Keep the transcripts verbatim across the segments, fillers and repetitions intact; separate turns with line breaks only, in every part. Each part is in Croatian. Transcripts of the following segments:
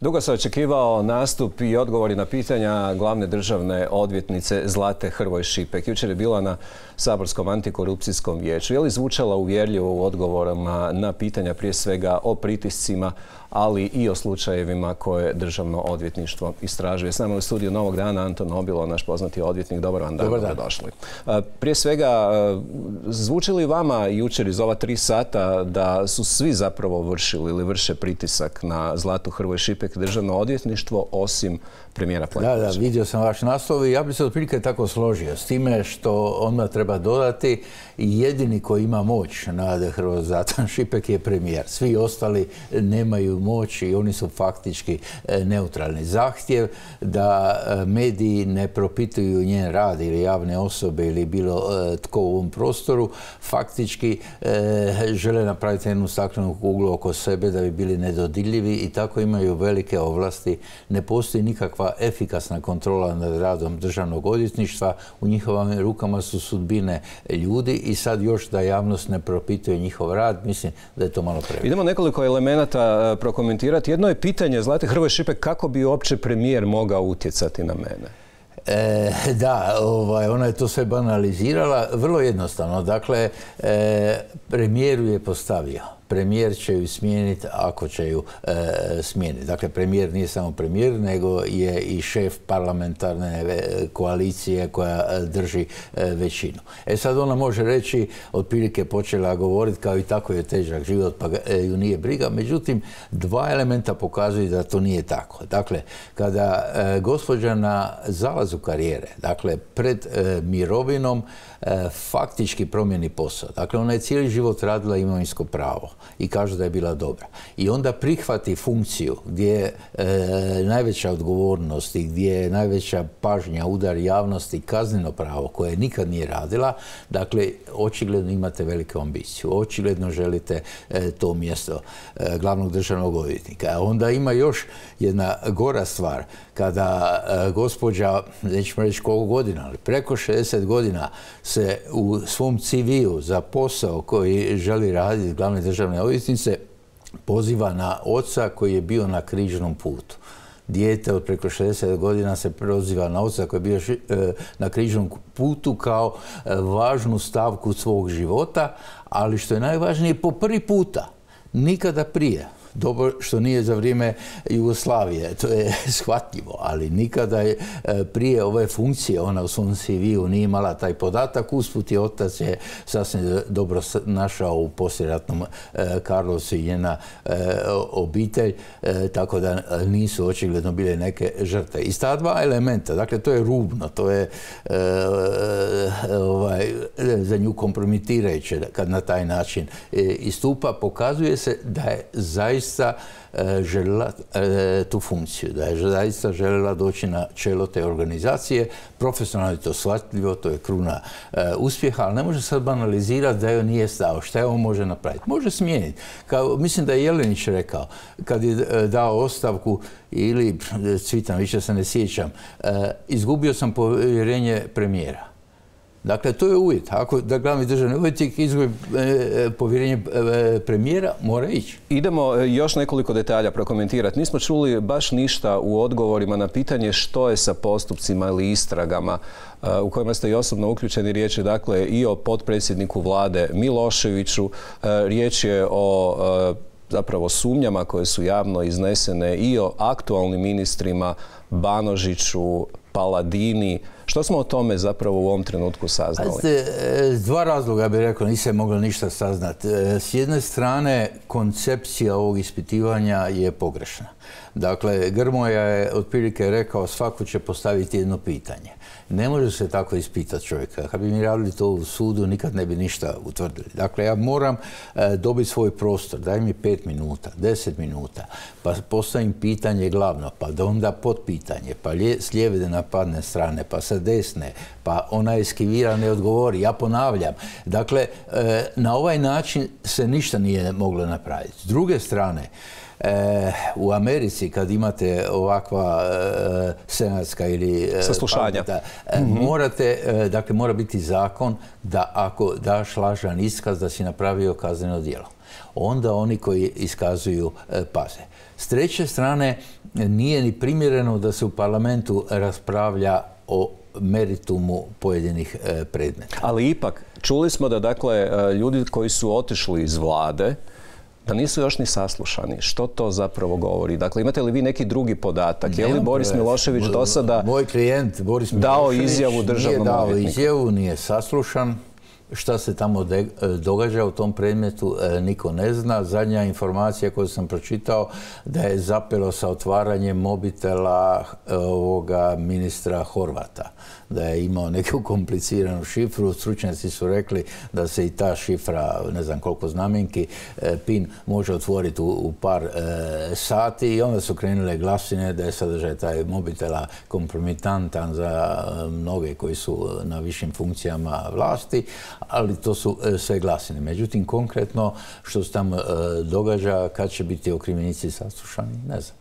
Dugo se očekivao nastup i odgovori na pitanja glavne državne odvjetnice Zlate Hrvoj Šipek. Jučer je bila na Saborskom antikorupcijskom vijeću. Je li zvučala uvjerljivo u odgovorima na pitanja prije svega o pritiscima, ali i o slučajevima koje državno odvjetništvo istražuje? S nama u studiju Novog dana Anton Nobilo, naš poznati odvjetnik. Dobar vam dan, dobrodošli. Prije svega, zvuči li vama jučer iz ova tri sata da su svi zapravo vršili ili vrše pritisak na Zlatu Hrvoj Šipek državno odvjetništvo osim premijera Plenkovića?
Da, da, vidio sam vaš naslov i ja bih se otprilike tako složio s time što onda treba dodati jedini koji ima moć nad Hrvoj Zlatan Šipek je premijer. Svi ostali nemaju moć i oni su faktički neutralni. Zahtjev da mediji ne propituju njen rad ili javne osobe ili bilo tko u ovom prostoru, faktički žele napraviti jednu staklenu kuglu oko sebe da bi bili nedodirljivi i tako imaju velike ovlasti. Ne postoji nikakva efikasna kontrola nad radom državnog odvjetništva. U njihovim rukama su sudbine ljudi i sad još da javnost ne propituje njihov rad, mislim da je to malo previše.
Idemo nekoliko elemenata prokomentirati. Jedno je pitanje Zlate Hrvoj Šipek, kako bi uopće premijer mogao utjecati na mene?
E, da, ovaj, ona je to sve banalizirala. Vrlo jednostavno. Dakle, e, premijeru je postavio. Premijer će ju smijeniti ako će ju e, smijeniti. Dakle, premijer nije samo premijer, nego je i šef parlamentarne koalicije koja drži e, većinu. E sad ona može reći, otprilike počela govoriti kao i tako je težak život, pa ju nije briga. Međutim, dva elementa pokazuju da to nije tako. Dakle, kada e, gospođa na zalazu karijere, dakle, pred e, mirovinom, e, faktički promijeni posao. Dakle, ona je cijeli život radila imovinsko pravo i kaže da je bila dobra. I onda prihvati funkciju gdje je e, najveća odgovornost i gdje je najveća pažnja, udar javnosti, kazneno pravo koje nikad nije radila. Dakle, očigledno imate veliku ambiciju. Očigledno želite e, to mjesto e, glavnog državnog odvjetnika. A onda ima još jedna gora stvar. Kada e, gospođa, nećemo reći koliko godina, ali preko šezdeset godina se u svom ce veu za posao koji želi raditi glavne državne odvjetnice poziva na oca koji je bio na križnom putu. Dijete od preko šezdeset godina se proziva na oca koji je bio na križnom putu kao važnu stavku svog života, ali što je najvažnije, po prvi puta, nikada prije. Dobro što nije za vrijeme Jugoslavije, to je shvatljivo, ali nikada je prije ove funkcije ona u svom ce veu nije imala taj podatak. Usput je otac je sasvim dobro našao u poslijeratnom Karlovcu i njena obitelj, tako da nisu očigledno bile neke žrtve. Iz ta dva elementa, dakle to je rubno, to je ovaj, za nju kompromitirajuće kad na taj način istupa, pokazuje se da je zaista željela tu funkciju, da je zaista željela doći na čelo te organizacije. Profesionalno je to shvatljivo, to je kruna uspjeha, ali ne može sad banalizirati da joj nije stao. Šta je on može napraviti? Može smijeniti. Kao, mislim da je Jelenić rekao, kad je dao ostavku, ili Cvitan, više se ne sjećam, izgubio sam povjerenje premijera. Dakle, to je uvjet. Ako da glavni državni odvjetnik izgubi povjerenje premijera, mora ići.
Idemo još nekoliko detalja prokomentirati. Nismo čuli baš ništa u odgovorima na pitanje što je sa postupcima ili istragama u kojima ste i osobno uključeni. Riječ je dakle i o potpredsjedniku vlade Miloševiću. Riječ je o zapravo sumnjama koje su javno iznesene i o aktualnim ministrima Banožiću, Paladini. Što smo o tome zapravo u ovom trenutku saznali?
S dva razloga bih rekao, nisam mogla ništa saznati. S jedne strane, koncepcija ovog ispitivanja je pogrešna. Dakle, Grmoja je otprilike rekao svako će postaviti jedno pitanje. Ne može se tako ispitati čovjeka. Kad bi mi radili to u sudu, nikad ne bi ništa utvrdili. Dakle, ja moram e, dobiti svoj prostor. Daj mi pet minuta, deset minuta, pa postavim pitanje glavno, pa da onda potpitanje, pa lje, s lijeve napadne strane, pa sa desne, pa ona eskivira, ne odgovori. Ja ponavljam. Dakle, e, na ovaj način se ništa nije moglo napraviti. S druge strane, E, u Americi kad imate ovakva e, senatska ili e,
saslušanja,
e, mm-hmm. morate, e, dakle mora biti zakon da ako daš lažan iskaz da si napravio kazneno djelo. onda oni koji iskazuju paze. S treće strane, nije ni primjereno da se u parlamentu raspravlja o meritumu pojedinih predmeta.
Ali ipak, čuli smo da dakle, ljudi koji su otišli iz vlade, da nisu još ni saslušani. Što to zapravo govori? Dakle, imate li vi neki drugi podatak? Je li Boris Milošević do sada
Moj klijent Boris
dao izjavu državnom
nije dao
odvjetniku?
izjavu, nije saslušan. Šta se tamo događa u tom predmetu, niko ne zna. Zadnja informacija koju sam pročitao da je zapelo sa otvaranjem mobitela ovoga ministra Horvata. Da je imao neku kompliciranu šifru. Stručnjaci su rekli da se i ta šifra, ne znam koliko znamenki, PIN može otvoriti u par sati i onda su krenule glasine da je sadržaj taj mobitela kompromitantan za mnoge koji su na višim funkcijama vlasti, ali to su sve glasine. Međutim, konkretno što se tamo događa, kad će biti okrivljenici saslušani, ne znam.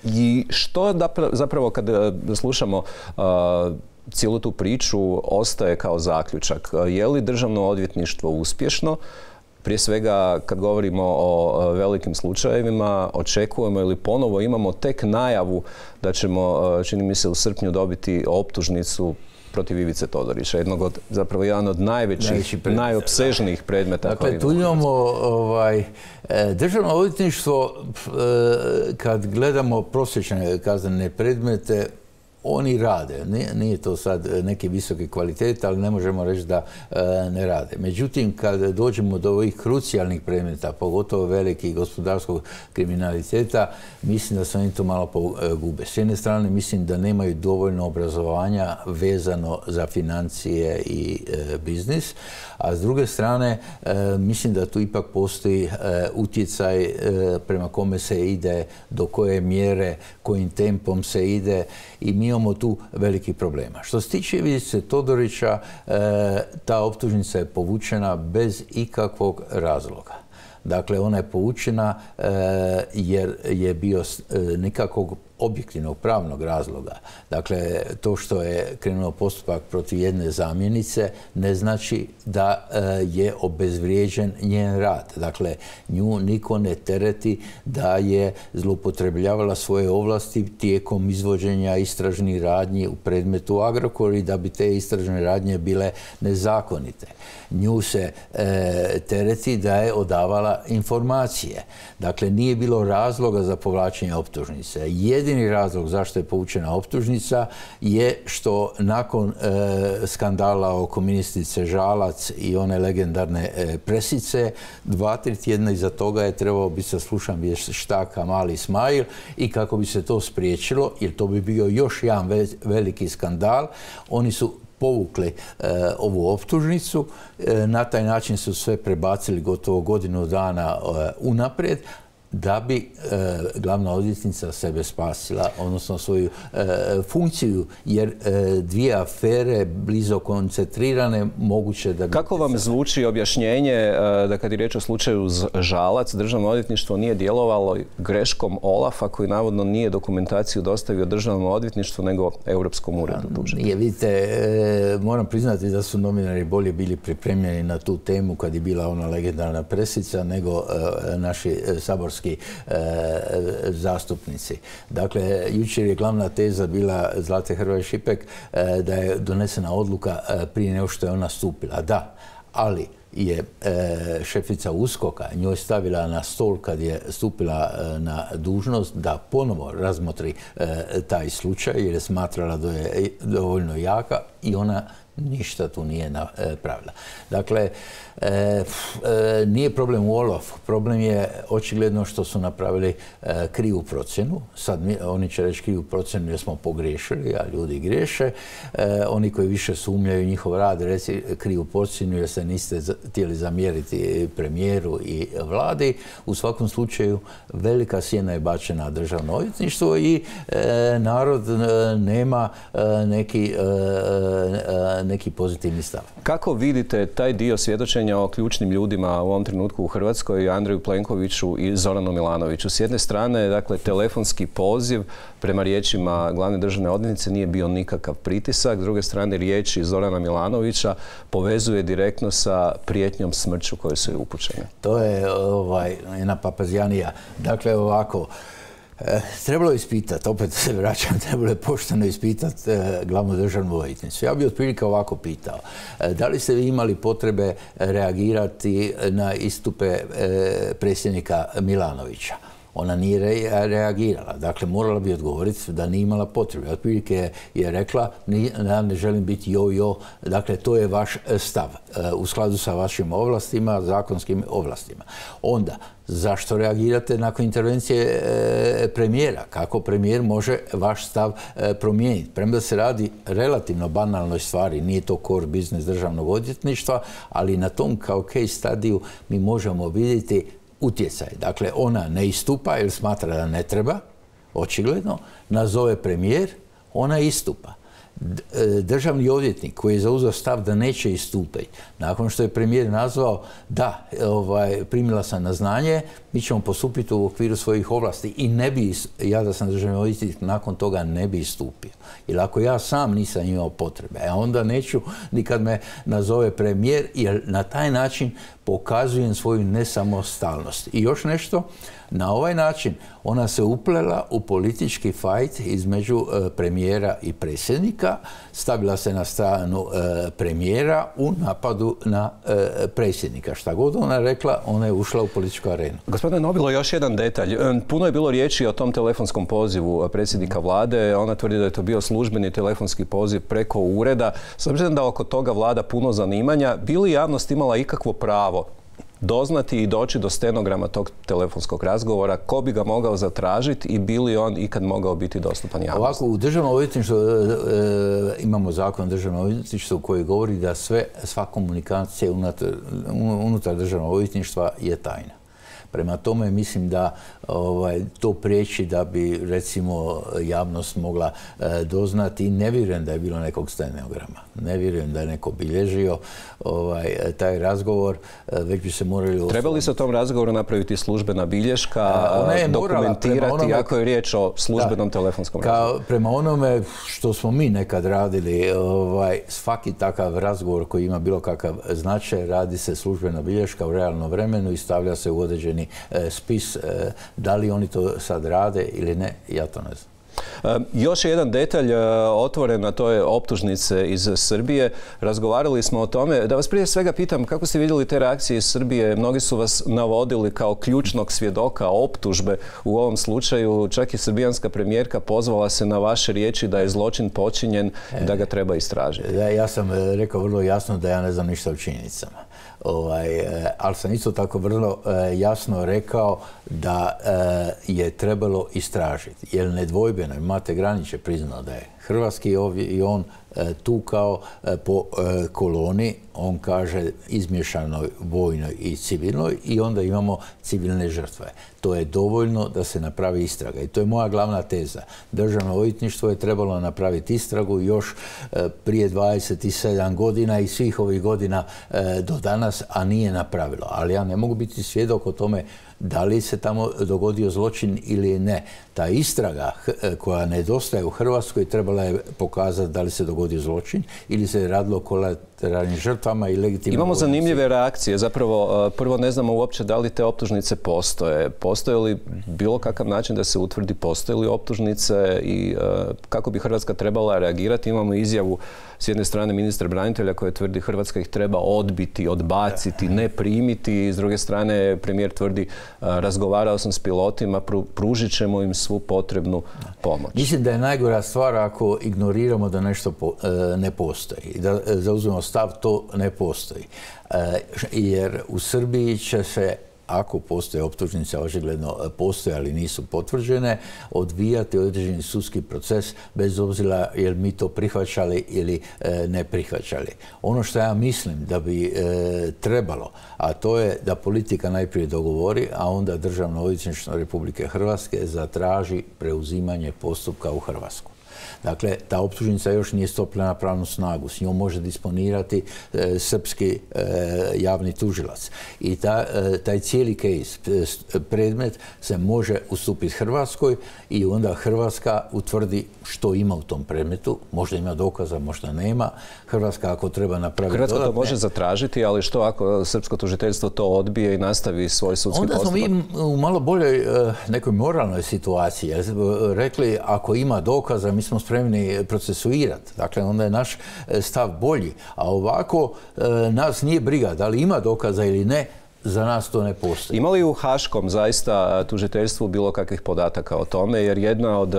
I što zapravo kad slušamo cijelu tu priču ostaje kao zaključak? Je li državno odvjetništvo uspješno? Prije svega, kad govorimo o velikim slučajevima, očekujemo ili ponovo imamo tek najavu da ćemo, čini mi se, u srpnju dobiti optužnicu protiv Ivice Todorića, jednog od, zapravo jedan od najvećih, najopsežnijih predmeta.
Dakle, tu imamo ovaj, državno odvjetništvo, kad gledamo prosječne kaznene predmete, oni rade. Nije, nije to sad neki visoki kvalitet, ali ne možemo reći da e, ne rade. Međutim, kad dođemo do ovih krucijalnih predmeta, pogotovo velikih gospodarskog kriminaliteta, mislim da se oni to malo pogube. S jedne strane, mislim da nemaju dovoljno obrazovanja vezano za financije i e, biznis, a s druge strane, e, mislim da tu ipak postoji e, utjecaj e, prema kome se ide, do koje mjere, kojim tempom se ide i mi imamo tu velikih problema. Što se tiče Ivice Todorića, ta optužnica je povučena bez ikakvog razloga. Dakle, ona je povučena jer je bio nikakvog objektivnog pravnog razloga. Dakle, to što je krenuo postupak protiv jedne zamjenice ne znači da je obezvrijeđen njen rad. Dakle, nju niko ne tereti da je zloupotrebljavala svoje ovlasti tijekom izvođenja istražnih radnji u predmetu Agrokor i da bi te istražne radnje bile nezakonite. Nju se e, tereti da je odavala informacije. Dakle, nije bilo razloga za povlačenje optužnice. Jedini razlog zašto je povučena optužnica je što nakon e, skandala oko ministrice Žalac i one legendarne e, presice, dva, tri tjedna iza toga je trebao biti saslušan vještak Kamal Ismail i kako bi se to spriječilo, jer to bi bio još jedan ve veliki skandal, oni su povukli e, ovu optužnicu. E, na taj način su sve prebacili gotovo godinu dana e, unaprijed, da bi e, glavna odvjetnica sebe spasila, odnosno svoju e, funkciju, jer e, dvije afere blizo koncentrirane moguće da bi...
Kako vam zvuči objašnjenje e, da kad je riječ o slučaju Žalac, državno odvjetništvo nije djelovalo greškom Olafa koji navodno nije dokumentaciju dostavio državnom odvjetništvu nego Europskom uredu tužitelja?
Je, vidite, e, moram priznati da su novinari bolje bili pripremljeni na tu temu kad je bila ona legendarna presica nego e, naši e, saborski E, zastupnici. Dakle, jučer je glavna teza bila Zlate Hrvoj Šipek e, da je donesena odluka e, prije nego što je ona stupila. Da, ali je e, šefica uskoka njoj stavila na stol kad je stupila e, na dužnost da ponovo razmotri e, taj slučaj jer je smatrala da je dovoljno jaka i ona ništa tu nije napravila. Dakle, e, e, nije problem u Olafu. Problem je očigledno što su napravili e, krivu procjenu. Sad mi, oni će reći krivu procjenu jer smo pogriješili, a ljudi griješe. E, oni koji više sumnjaju njihov rad reci krivu procjenu jer se niste htjeli zamjeriti premijeru i vladi. U svakom slučaju velika sjena je bačena na državno odvjetništvo i e, narod e, nema e, neki e, neki pozitivni stav.
Kako vidite taj dio svjedočenja o ključnim ljudima u ovom trenutku u Hrvatskoj, Andreju Plenkoviću i Zoranu Milanoviću? S jedne strane, dakle, telefonski poziv prema riječima glavne državne odvjetnice nije bio nikakav pritisak. S druge strane, riječi Zorana Milanovića povezuje direktno sa prijetnjom smrću koje su je upućene.
To je ovaj, jedna papazjanija. Dakle, ovako, E, trebalo je ispitati, opet se vraćam, trebalo je pošteno ispitati e, glavnu državnu odvjetnicu. Ja bih otprilike ovako pitao. E, da li ste vi imali potrebe reagirati na istupe e, predsjednika Milanovića? Ona nije re reagirala. Dakle, morala bi odgovoriti da nije imala potrebe. Otprilike je, je rekla, ja ne želim biti jo-jo. Dakle, to je vaš stav e, u skladu sa vašim ovlastima, zakonskim ovlastima. Onda, zašto reagirate nakon intervencije e, premijera? Kako premijer može vaš stav e, promijeniti? Premda se radi relativno banalnoj stvari, nije to core biznis državnog odvjetništva, ali na tom kao case studiju mi možemo vidjeti utjecaj. Dakle, ona ne istupa jer smatra da ne treba, očigledno, nazove premijer, ona istupa. Državni odvjetnik koji je zauzeo stav da neće istupiti, nakon što je premijer nazvao da, ovaj, primila sam na znanje, mi ćemo postupiti u okviru svojih ovlasti i ne bi, ja da sam državni odvjetnik, nakon toga ne bi istupio. Jer ako ja sam nisam imao potrebe, a onda neću ni kad me nazove premijer, jer na taj način pokazujem svoju nesamostalnost. I još nešto, na ovaj način ona se uplela u politički fajt između e, premijera i predsjednika, stavila se na stranu e, premijera u napadu na e, predsjednika. Šta god ona rekla, ona je ušla u političku arenu.
Gospodine Nobilo, još jedan detalj. Puno je bilo riječi o tom telefonskom pozivu predsjednika vlade. Ona tvrdi da je to bio službeni telefonski poziv preko ureda. S obzirom da oko toga vlada puno zanimanja, bi li javnost imala ikakvo pravo doznati i doći do stenograma tog telefonskog razgovora, ko bi ga mogao zatražiti i bi li on ikad mogao biti dostupan javnosti?
Ovako, u državnom odvjetništvu e, e, imamo zakon o državnom odvjetništvu koji govori da sve, sva komunikacija unutar, unutar državnog odvjetništva je tajna. Prema tome mislim da ovaj, to priječi da bi recimo javnost mogla e, doznati i ne vjerujem da je bilo nekog stenograma. Ne vjerujem da je neko bilježio ovaj, taj razgovor, e, već bi se morali...
Treba li se o tom razgovoru napraviti službena bilješka, a, dokumentirati onome, ako je riječ o službenom da, telefonskom razgovoru?
Prema onome što smo mi nekad radili, ovaj, svaki takav razgovor koji ima bilo kakav značaj, radi se službena bilješka u realnom vremenu i stavlja se u određeni spis. Da li oni to sad rade ili ne, ja to ne znam.
Još je jedan detalj otvoren, a to je optužnice iz Srbije. Razgovarali smo o tome. Da vas prije svega pitam kako ste vidjeli te reakcije iz Srbije. Mnogi su vas navodili kao ključnog svjedoka optužbe u ovom slučaju. Čak i srbijanska premijerka pozvala se na vaše riječi da je zločin počinjen i da ga treba istražiti.
Ja, ja sam rekao vrlo jasno da ja ne znam ništa o činjenicama. Ovaj, ali sam isto tako vrlo e, jasno rekao da e, je trebalo istražiti. Jer nedvojbeno, Mate Granić je priznao da je hrvatski ovdje i on e, tukao e, po e, koloni, on kaže izmješanoj vojnoj i civilnoj i onda imamo civilne žrtve. To je dovoljno da se napravi istraga i to je moja glavna teza. Državno odvjetništvo je trebalo napraviti istragu još e, prije dvadeset sedam godina i svih ovih godina e, do danas, a nije napravilo. Ali ja ne mogu biti svjedok o tome da li se tamo dogodio zločin ili ne. Ta istraga koja nedostaje u Hrvatskoj trebala je pokazati da li se dogodio zločin ili se radilo o kolateralnim žrtvama i legitimnim...
Imamo zanimljive reakcije. Zapravo, prvo ne znamo uopće da li te optužnice postoje. Postoje li bilo kakav način da se utvrdi postoje li optužnice i kako bi Hrvatska trebala reagirati? Imamo izjavu s jedne strane ministra branitelja koji tvrdi Hrvatska ih treba odbiti, odbaciti, ne primiti. I s druge strane premijer tvrdi razgovarao sam s pilotima, pružit ćemo im svu potrebnu pomoć.
Mislim da je najgora stvar ako ignoriramo da nešto po, e, ne postoji. Da zauzmemo stav, to ne postoji. E, jer u Srbiji će se, ako postoje optužnice, očigledno postoje, ali nisu potvrđene, odvijati određeni sudski proces bez obzira jel mi to prihvaćali ili e, ne prihvaćali. Ono što ja mislim da bi e, trebalo, a to je da politika najprije dogovori, a onda Državno odvjetništvo Republike Hrvatske zatraži preuzimanje postupka u Hrvatsku. Dakle, ta optužnica još nije stupila na pravnu snagu. S njom može disponirati e, srpski e, javni tužilac. I ta, e, taj cijeli case, predmet, se može ustupiti Hrvatskoj i onda Hrvatska utvrdi što ima u tom predmetu. Možda ima dokaza, možda nema. Hrvatska ako treba napraviti
Hrvatska
dodatne...
to može zatražiti, ali što ako srpsko tužiteljstvo to odbije i nastavi svoj sudski
onda
postupak?
Onda smo mi u malo boljoj nekoj moralnoj situaciji. Rekli, ako ima dokaza, mi smo spremni procesuirati. Dakle, onda je naš stav bolji. A ovako nas nije briga da li ima dokaza ili ne, za nas to ne postoji.
Ima li u haškom zaista tužiteljstvu bilo kakvih podataka o tome? Jer jedna od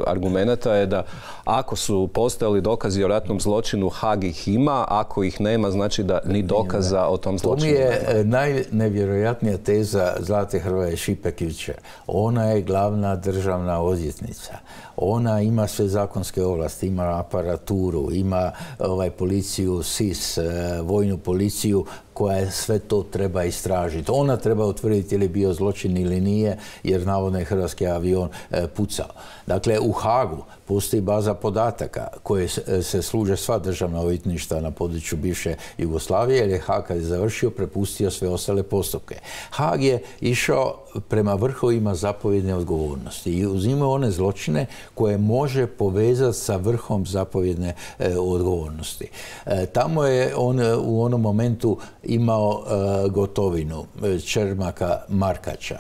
argumenata je da ako su postojali dokazi o ratnom zločinu, Haag ih ima, ako ih nema, znači da ni dokaza o tom zločinu nema.
To mi je najnevjerojatnija teza Zlate Hrvoje Šipek jučer. Ona je glavna državna odvjetnica. Ona ima sve zakonske ovlasti, ima aparaturu, ima ovaj, policiju, S I S, vojnu policiju koja sve to treba istražiti. Ona treba utvrditi ili bio zločin ili nije, jer navodno je hrvatski avion e, pucao. Dakle, u Haagu postoji baza podataka koje se služe sva državna odvjetništva na području bivše Jugoslavije, jer je Haag kad je završio prepustio sve ostale postupke. Haag je išao prema vrhovima zapovjedne odgovornosti i uzimao one zločine koje može povezati sa vrhom zapovjedne e, odgovornosti. E, tamo je on u onom momentu imao e, Gotovinu, Čermaka, Markača.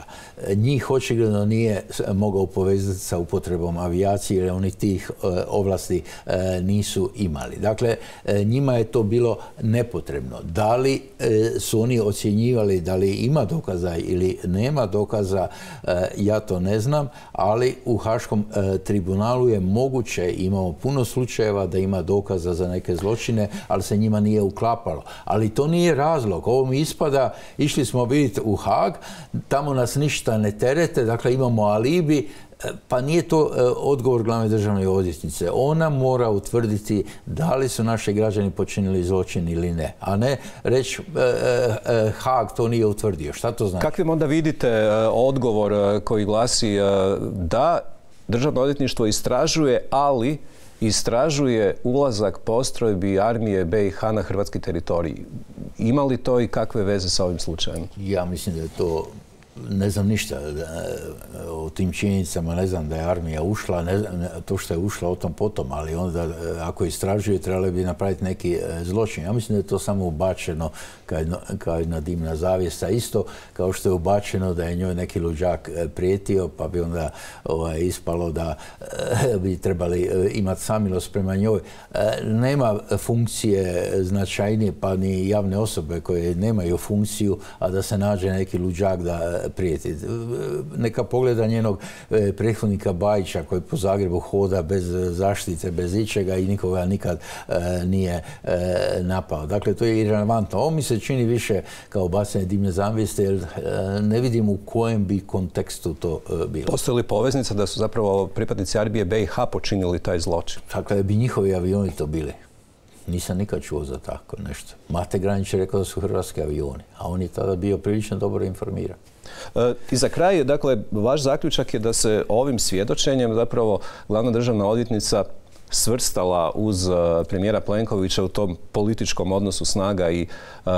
E, njih očigledno nije mogao povezati sa upotrebom avijacije, jer oni tih e, ovlasti e, nisu imali. Dakle, e, njima je to bilo nepotrebno. Da li e, su oni ocjenjivali da li ima dokaza ili nema dokaza, e, ja to ne znam, ali u Haškom e, tribunalu je moguće, imamo puno slučajeva da ima dokaza za neke zločine, ali se njima nije uklapalo. Ali to nije razlog. Ovo mi ispada, išli smo vidjeti u Haag, tamo nas ništa ne terete, dakle imamo alibi, pa nije to odgovor glavne državne odvjetnice. Ona mora utvrditi da li su naši građani počinili zločin ili ne, a ne reći Haag to nije utvrdio. Šta to znači?
Kakvim onda vidite odgovor koji glasi da Državno odvjetništvo istražuje, ali istražuje ulazak postrojbi armije B i H na hrvatski teritorij? Ima li to i kakve veze sa ovim slučajem?
Ja mislim da je to... Ne znam ništa o tim činjenicama, ne znam da je armija ušla, ne znam, to što je ušla o tom potom, ali onda ako istražuje trebali bi napraviti neki zločin. Ja mislim da je to samo ubačeno kao jedna dimna zavjesa, isto kao što je ubačeno da je njoj neki luđak prijetio, pa bi onda ovaj, ispalo da bi trebali imati samilost prema njoj. Nema funkcije značajnije, pa ni javne osobe koje nemaju funkciju, a da se nađe neki luđak da prijeti. Neka pogleda njenog prethodnika Bajića koji po Zagrebu hoda bez zaštite, bez ičega i nikoga nikad nije napao. Dakle, to je irelevantno. Ovo mi se čini više kao bacanje dimne zavjese, jer ne vidim u kojem bi kontekstu to bilo.
Postoji li poveznica da su zapravo pripadnici armije B i H počinili taj zločin?
Dakle, bi njihovi avioni to bili. Nisam nikad čuo za tako nešto. Mate Granić je rekao da su hrvatski avioni, a on je tada bio prilično dobro informiran.
E, I za kraj, dakle, vaš zaključak je da se ovim svjedočenjem zapravo glavna državna odvjetnica svrstala uz premijera Plenkovića u tom političkom odnosu snaga i uh,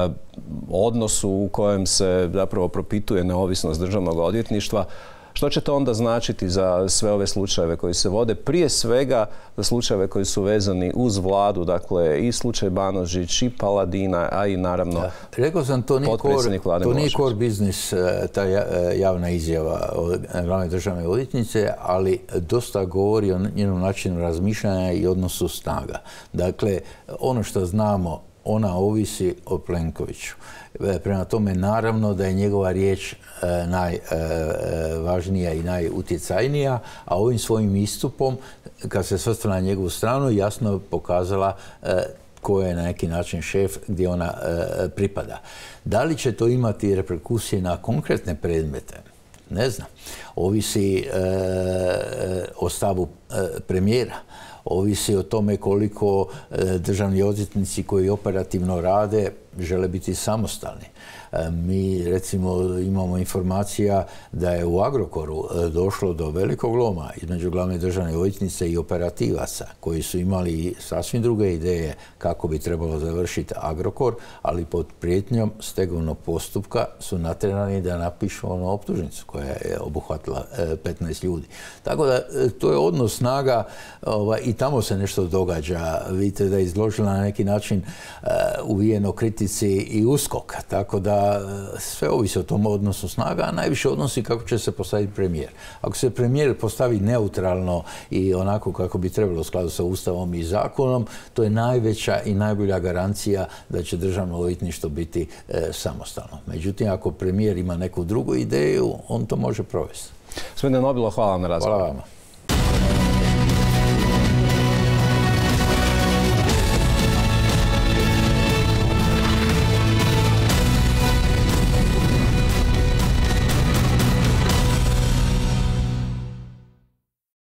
odnosu u kojem se zapravo propituje neovisnost državnog odvjetništva. Što će to onda značiti za sve ove slučajeve koji se vode? Prije svega za slučajeve koji su vezani uz vladu, dakle i slučaj Banožić i Paladina, a i naravno ja.
Rekao sam, to nije
potpredsjednik Vlade
To nije core biznis, ta javna izjava od glavne državne odvjetnice, ali dosta govori o njenom načinu razmišljanja i odnosu snaga. Dakle, ono što znamo, ona ovisi o Plenkoviću. Prema tome, naravno da je njegova riječ najvažnija i najutjecajnija, a ovim svojim istupom, kad se svrstala na njegovu stranu, jasno je pokazala ko je na neki način šef, gdje ona pripada. Da li će to imati reperkusije na konkretne predmete? Ne znam. Ovisi o stavu premijera. ovisi o tome koliko državni odvjetnici koji operativno rade žele biti samostalni. Mi recimo imamo informacija da je u Agrokoru došlo do velikog loma između glavne državne odvjetnice i operativaca koji su imali sasvim druge ideje kako bi trebalo završiti Agrokor, ali pod prijetnjom stegovnog postupka su natjerani da napišu onu optužnicu koja je obuhvatila petnaest ljudi. Tako da to je odnos snaga i tamo se nešto događa. Vidite da je izložila na neki način uvijeno kritici i USKOK, tako da sve ovisi o tom odnosu snaga, a najviše odnosi kako će se postaviti premijer. Ako se premijer postavi neutralno i onako kako bi trebalo u skladu sa Ustavom i zakonom, to je najveća i najbolja garancija da će državno odvjetništvo biti e, samostalno. Međutim, ako premijer ima neku drugu ideju, on to može provesti.
Gospodine Nobilo, hvala vam na razgovoru.
Hvala vama.